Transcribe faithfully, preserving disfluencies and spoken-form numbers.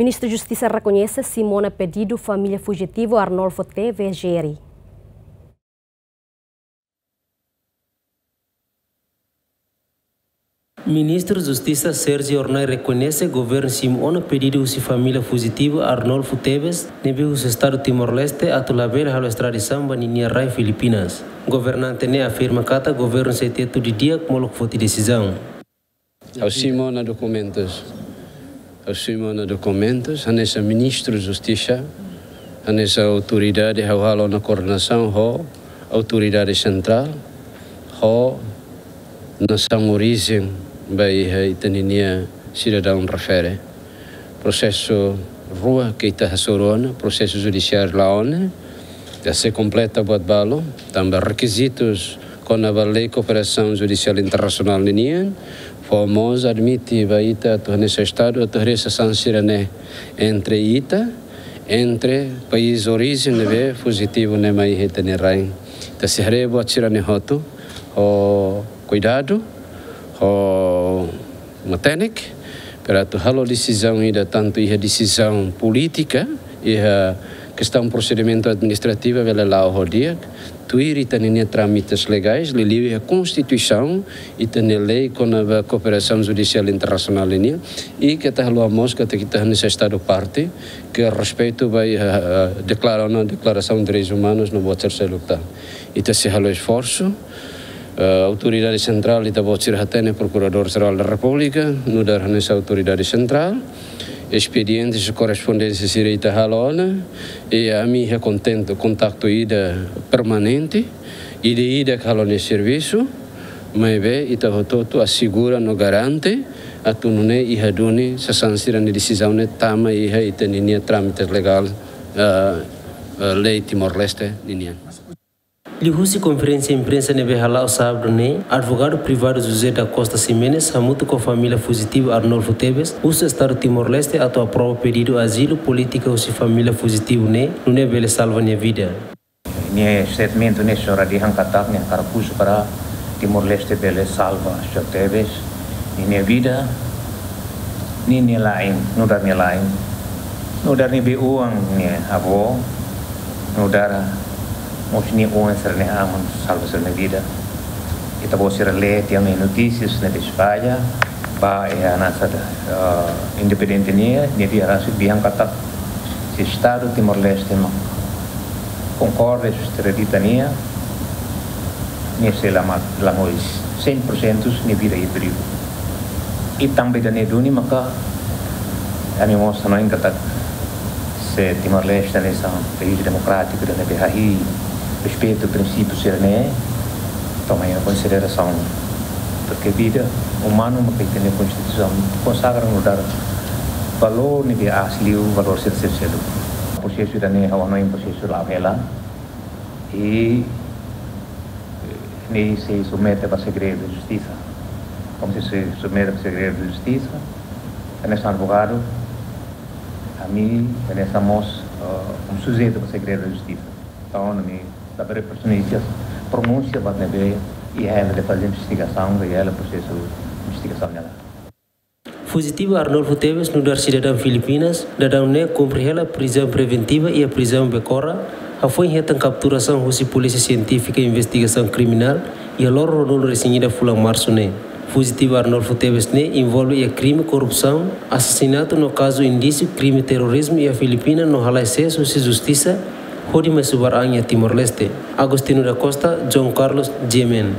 Ministru Justisa rekoñese simu ona pedidu família fujitivu Arnolfo Teves jeri. Ministru Justisa Sérgio Hornai rekoñese governu simu ona pedidu husi família fujitivu Arnolfo Teves, ne'ebé husu Estadu Timor-Leste atu labele halo estradisaun ba ninia rai Filipinas. Governante ne'e afirma katak governu sei tetu didi'ak molok foti desizaun. Ha'u simu ona dokumentus. Ha'u simu ona dokumentus, hanesan Ministru Justisa, hanesan autoridade ha'u halo ona koordenasaun ho autoridade sentrál, ho nasaun orijen ba iha ita ninia sidadaun refere. Prosesu rua ke ita hasoru ona, prosesu judisiáriu la'o ne'e, ita sei kompleta buat balu, tanba rekizitus kona-ba lei kooperasaun judisiál internasionál ninian, fó mós admite ba ita atu hanesan Estadu atu haree sasán sira-ne'e entre ita, entre país orijen ne'ebé fujitivu ne'e mai iha ita-nia rain. Ita sei haree buat sira-ne'e hotu ho kuidadu, ho matenek, para atu halo desizaun ida, tantu iha desizaun polítika, iha kestaun prosedimentu administrativu bele la'o ho di'ak, tuir ita ninia trámites legais, liuliu iha Konstituisaun, ita-nia lei kona-ba kooperasaun judisiál internasionál nian, i keta haluha mós katak ita hanesan Estadu parte, ke respeitu ba iha, eh, deklara ona Deklarasaun Direitus Umanus no buat sira seluk tan. Ita sei halo esforsu, eh, autoridade sentrál, ita-boot sira hatene, Prokuradór Jerál da Repúblika, nu'udar hanesan autoridade sentrál, espediente, korrespondénsia sira ita halo ona, i ami iha kontentu, kontaktu ida permanente, ida-idak halo nia servisu, maibé ita hotu-hotu asegura no garante atu nune'e iha duni sasán sira-nia desizaun ne'e tama iha ita ninia trámite legál, eh, eh, lei Timor-Leste ninian. Liuhusi konferénsia imprensa ne'ebé hala'o sábadu ne'e, advogadu privadu José da Costa Ximenes hamutuk ho família fujitivu Arnolfo Teves husu Estadu Timor-Leste atu aprova pedidu azilu polítika husi família fujitivu ne'e, nune'e bele salva nia vida. Nia statement ne'e só hodi hakarak, nia hakarak husu para Timor-Leste bele salva señór Teves ninia vida, ninia la'en, nu'udar nia la'en, nu'udar nia be-oan nia avó, nu'udar mós nia oan sira-nia aman salva sira-nia vida. Ita-boot sira lee tiha ona iha notísias ne'ebé espalla, ba iha nasaun, eh, independente nian, nia dehan rasik dehan katak se Estadu Timor-Leste mak konkorda ho sira-nia, nia sei la ma-, la moris, cem por cento nia vida iha perigu. I tanba ida-ne'e duni maka ami mós hanoin katak se Timor-Leste hanesan país demokrátiku ida ne'ebé hahi'i respeitu prinsípiu sira-ne'e, toma em consideração, porque vida umanu maka ita-nia Konstituisaun konsagra no dá valór ne'ebé aas liu, valór sira seluk. Prosesu ida-ne'e ha'u hanoin prosesu la'o hela. I ne'e sei submete ba segredu de justisa. Komu sei submete ba segredu de justisa, hanesan advogadu, ami hanesan mós, eh, um sujeitu ba segredu de justisa. Entaun, ami labele pronunsia, pronunsia ba ne'ebé iha hela de faze investigasaun, iha hela prosesu investigasaun ne'e. Fujitivu Arnolfo Teves nu'udar sidadaun Filipinas, daudaun ne'e kumpre hela prizaun preventiva iha prizaun Becora, hafoin hetan kapturasaun husi Polísia Sientífika Investigasaun Kriminál iha loron ruanulu-resin-ida fulan Marsu ne'e. Fujitivu Arnolfo Teves ne'e envolve iha krime korrupsaun, asasinatu no kazu indísiu krime terrorizmu iha Filipina no halai sees husi justisa, hodi mai subar an iha Timor-Leste. Agostinho da Costa, João Carlos, G M N.